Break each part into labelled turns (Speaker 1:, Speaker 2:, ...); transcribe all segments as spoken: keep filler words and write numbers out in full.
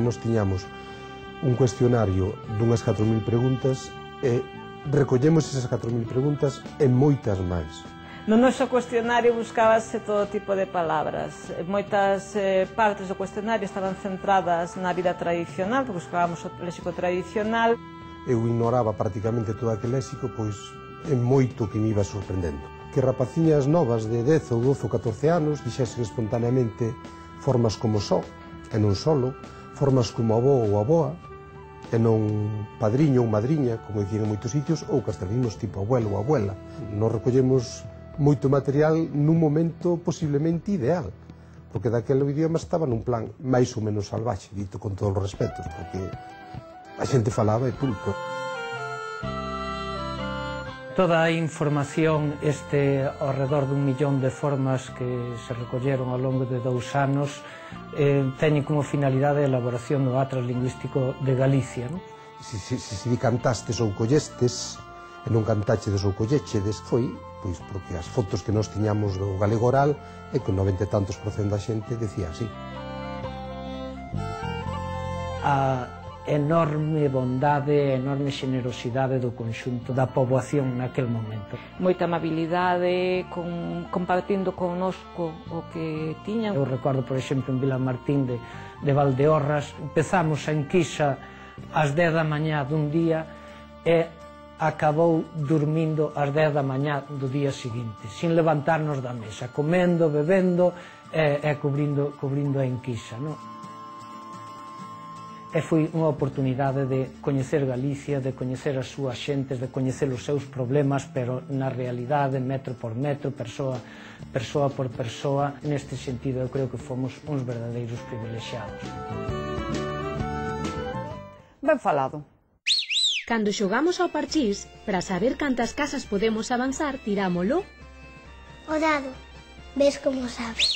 Speaker 1: nos tiñamos un cuestionario dunhas catro mil preguntas e recollemos esas catro mil preguntas e moitas máis.
Speaker 2: No noso cuestionario buscábase todo tipo de palabras. Moitas eh, partes do cuestionario estaban centradas na vida tradicional, porque buscábamos o léxico tradicional.
Speaker 1: Eu ignoraba prácticamente todo aquel léxico, pois é moito que me iba sorprendendo. Que rapaciñas novas de dez ou doce ou catorce anos dixesen espontaneamente formas como só, e non solo, formas como avó ou avoa, e non padriño ou madriña, como dicían en moitos sitios, ou castellanos tipo abuelo ou abuela. Nos recollemos moito material nun momento posiblemente ideal, porque daquele idioma estaba nun plan máis ou menos salvaxe, dito con todos os respetos, porque a xente falaba e punto.
Speaker 3: Toda a información, este ao redor dun millón de formas que se recolleron ao longo de dous anos, eh, teñen como finalidade a elaboración do Atlas Lingüístico de Galicia. Non?
Speaker 1: Se si, si, si cantastes ou collestes, e non cantachedes ou collechedes, foi pois porque as fotos que nós tiñamos do galego oral é que o noventa e tantos por cento da xente decía así.
Speaker 3: A enorme bondade, enorme xenerosidade do conxunto da poboación naquel momento.
Speaker 2: Moita amabilidade, con, compartindo connosco o que tiñan.
Speaker 3: Eu recordo, por exemplo, en Vilamartín de, de Valdeorras, empezamos a enquisa ás dez da mañá dun día e acabou dormindo ás dez da mañá do día seguinte, sin levantarnos da mesa, comendo, bebendo e, e cubrindo, cubrindo a enquisa, non? E foi unha oportunidade de coñecer Galicia, de coñecer as súas xentes, de coñecer os seus problemas, pero na realidade, metro por metro, persoa, persoa por persoa. Neste sentido, eu creo que fomos uns verdadeiros privilexiados.
Speaker 2: Ben falado.
Speaker 4: Cando xogamos ao parchís, para saber cantas casas podemos avanzar, tirámolo.
Speaker 5: O dado. Ves como sabes.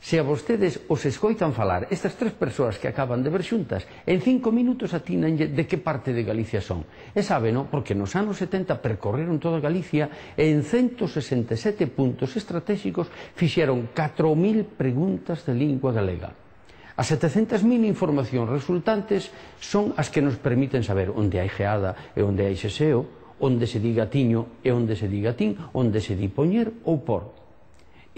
Speaker 6: Se a vostedes os escoitan falar estas tres persoas que acaban de ver xuntas, en cinco minutos atinanlle de que parte de Galicia son. E sabe, non? Porque nos anos setenta percorreron toda Galicia e en ciento sesenta e sete puntos estratégicos fixeron catro mil preguntas de lingua galega. As setecentas mil informacións resultantes son as que nos permiten saber onde hai geada e onde hai xeseo, onde se di gatiño e onde se di gatín, onde se di poñer ou por.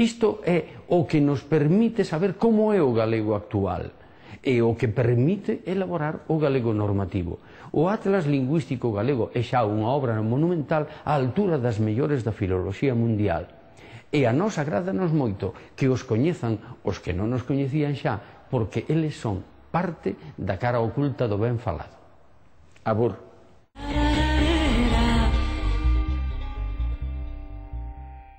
Speaker 6: Isto é o que nos permite saber como é o galego actual e o que permite elaborar o galego normativo. O Atlas Lingüístico Galego é xa unha obra monumental á altura das mellores da filoloxía mundial. E a nos agrádanos moito que os coñezan os que non nos coñecían xa, porque eles son parte da cara oculta do ben falado. Abur.